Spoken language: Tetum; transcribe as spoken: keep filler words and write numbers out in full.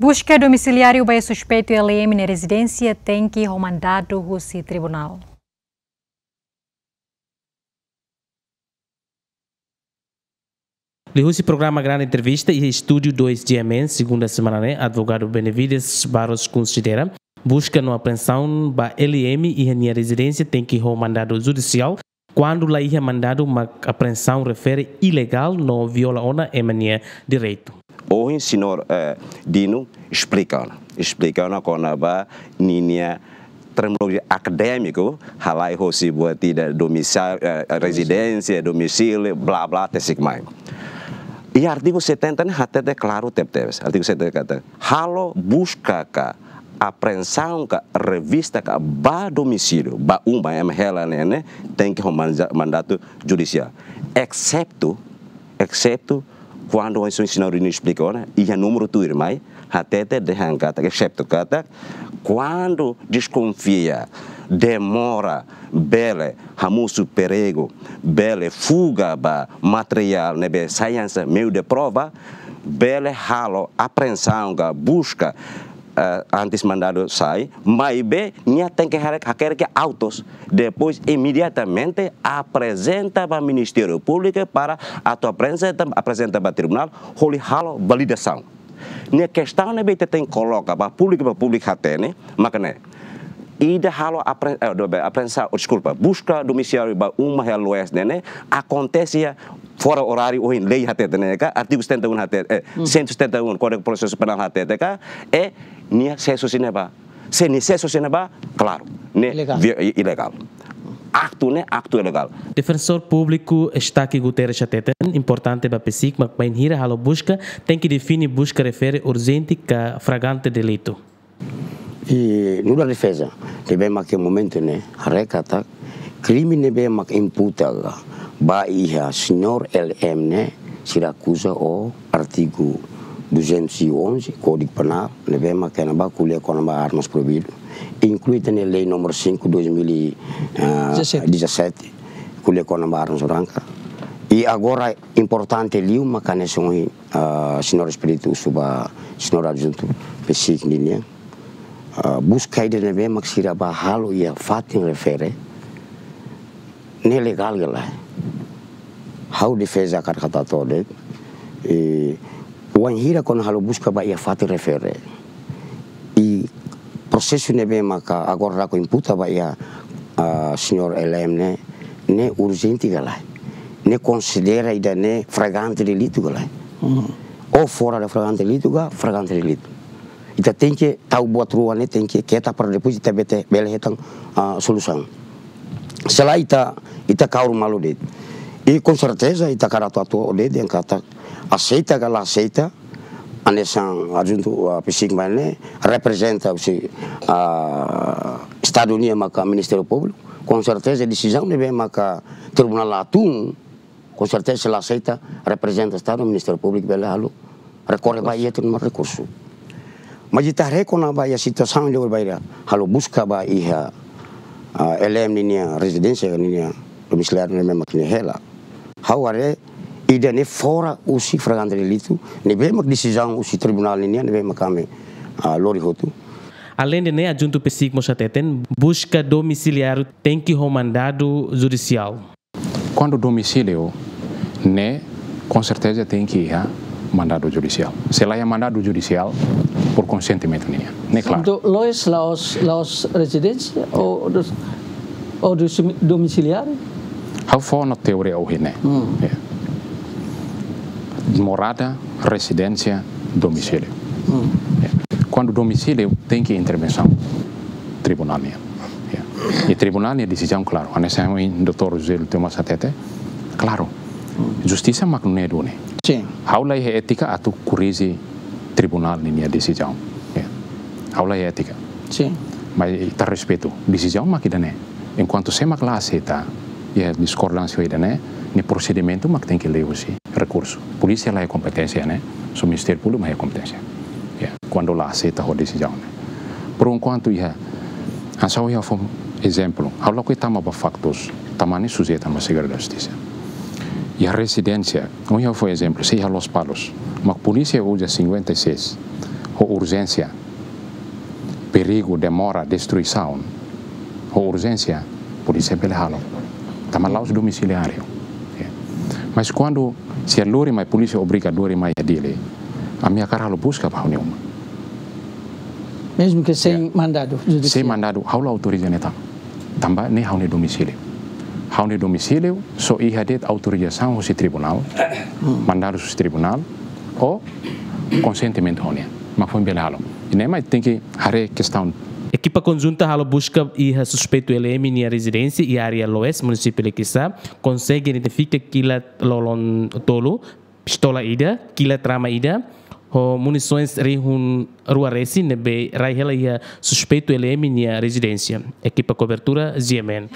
Buska domisiliáriu ba iha suspeitu L M nia rezidénsia tenke ho mandadu husi tribunál. Liuhusi programa Grande Entrevista iha estúdiu dois G M N, segunda semana ne'e, advogadu Benevides Barros konsidera buska no apreensaun ba L M iha nia rezidénsia tenke ho mandadu judisiál. Kuandu la iha mandadu, mak apreensaun refere ilegál no viola ona ema nia direitu. Ohin señór, eh, Dino esplika ona, esplika ona kona-ba ninia terminolojia akadémiku, halai hosi buat ida domisa-, eh, rezidénsia, domicílio, blá, blá, te sigue mai. I artigu setenta ne'e hatete klaru tebetebes. Artigu setenta katak, halo buska ka, apreensaun ka, revista ka ba domicílio, ba uma ema hela ne'e, ne'e tenke ho manja-, mandadu judisiál. Exetu, exetu kuandu ohin señór Dino esplika ona, iha númeru tuirmai, hatete dehan katak, exetu katak, kuandu deskonfia, demora, bele hamosu perigu, bele fuga ba materiál ne'ebé sai hanesan meiu de prova, bele halo apreensaun ka buska, eh, antes mandadu sai, maibé nia tenke hare-, hakerek autus, depois imediatamente aprezenta ba Ministériu Públiku para atu aprezenta, aprezenta ba tribunál, hodi halo validasaun. Ne'e kestaun ne'ebé ita tenke koloka ba públiku, ba públiku hatene, maka ne'e. Ida halo apre-, eh, do-, be-, apreensaun, oh, deskulpa, buska domisiliáriu ba uma hela loes ne'e, ne'e akontese iha fora oráriu ohin lei hatete ne'e ka, artigu setenta e um hatete, eh, Hmm. cento e setenta e um, Kódigu Prosesu Penál hatete ka, i nia sesu husi ne'ebá. Se nia sesu husi ne'ebá, klaru, ne'e Ilegál. vi-, i-, ilegál. Aktu ne'e, aktu ilegál. Defensór Públiku Estaque Guterres hateten, importante ba PCIC mak bainhira halo buska, tenke define buska refere urjente ka flagrante delitu. I nu'udar defeza, ne'ebé mak iha momentu ne'e, haree katak, krime ne'ebé mak imputa ba iha señór L M ne'e, sira akuza ho artigu duzentos e onze, Kódigu Penál, ne'ebé mak kona-ba ko'alia kona-ba armas proibidu, inklui tan iha lei númeru cinco, dois mil e dezassete, ko'alia kona-ba armas branka. I agora importante liu mak hanesan ohin, ah, señór Espíritu husu ba señór adjuntu PCIC ninian, ah, buska ida ne'ebé mak sira bá halo iha fatin refere, ne'e legál ka lae? Ha'u defeza hakarak hatete de'it, eh, wainhira kona halo buska ba iha fatin refere, i prosesu ne'ebé maka agora daudaun imputa ba iha, ah, señór L M ne'e, ne'e urjente ka lae? Ne'e konsidera ida-ne'e flagrante delitu ka lae? Hmm. Ou fora de flagrante delitu ka flagrante delitu? Ita tenke tau buat rua ne'e tenke keta para depois ita bele, bele hetan, ah, solusaun. Se lae ita, ita kaur malu de'it. I com certeza ita hakarak atu hatete de'it dehan katak aseita ka la aseita, hanesan adjuntu, ah, PCIC mai ne'e reprezenta husi, ah, Estadu nian maka Ministériu Públiku. Com certeza desizaun ne'ebé maka tribunál la tun, com certeza se la aseita, reprezenta Estadu, Ministériu Públiku bele halo rekorre ba iha tribunál rekursu. Mas ita haree kona-ba iha situasaun ida bainhira halo buska ba iha, ah, L M ninia rezidénsia, ninia domisiliáriu ne'ebé mak nia hela. Ha'u haree ida-ne'e fora husi flagrante delitu, ne'ebé mak desizaun husi tribunál ninian, ne'ebé mak ami, ah, lori hotu. Aleinde ne'e, adjuntu PCIC mós hateten, buska domisiliáriu tenke ho mandadu judisiál. Kuandu domisíliu ne'e, com certeza tenke iha mandadu judisiál. Se la iha mandadu judisiál, por konsentimento nian. Ne'e klaru. Entaun, loes la'ós, la'ós rezidénsia ou dos, ou dos domisiliáriu? Ha'u fó ona teoria ohin ne'e. Hmm. Ya. Morada, rezidénsia, domisíliu. Hmm. Ya. Kuandu domisíliu tenke intervensaun tribunál nian. Ya. I tribunál nia desizaun klaru. Hanesan ohin doutór José Tomás hatete, klaru. Justisa mak nune'e duni. Sin. Ha'u la iha étika atu korrije tribunál ninia desizaun. Ya. Ha'u la iha étika. Sin. Mas ita respeitu. Desizaun mak ida-ne'e. Enkuantu sé mak la aseita, iha diskordánsia ida-ne'e, nia prosedimentu mak tenke lori husi rekursu. Polísia la iha kompeténsia ne'e, só Ministériu Públiku mak iha kompeténsia. Ya, kuandu la aseita ho desizaun ne'e. Por enkuantu iha, hanesan ohin ha'u fó ezemplu, ha'u lakohi tama ba faktus, tanba ne'e sujeita ba Segredu da Justisa. Iha rezidénsia, ohin ha'u fó ezemplu, sei iha Lospalos, mak polísia uza cinquenta e seis, ho urjénsia, perigu, demora, destruisaun, ho urjénsia, polísia bele halo. Tanba la'ós domiciliáriu. Mas kuandu sira lori mai, polísia obriga lori mai iha Dili, ami hakarak halo buska ba ha'u-nia uma. Mesmu ke sein mandadu judisiál. Sein mandadu, ha'u la autoriza ne'e tan. Tanba ne'e ha'u-nia domicíliu. Ha'u-nia domicíliu só iha de'it autorizasaun husi tribunál, mandadu husi tribunál, ou konsentimentu ha'u-nian. Mak foin bele halo. I ne'e mak tenke haree kestaun. Ekipa konjunta halo buska iha suspeitu L M nia rezidénsia iha área Loes, munisípiu Liquiçá, konsege identifika kilat lolon tolu, pistola ida, kilat rama ida, ho munisoens rihun rua resin ne'ebé rai hela iha suspeitu L M nia rezidénsia. Ekipa kobertura, G M N.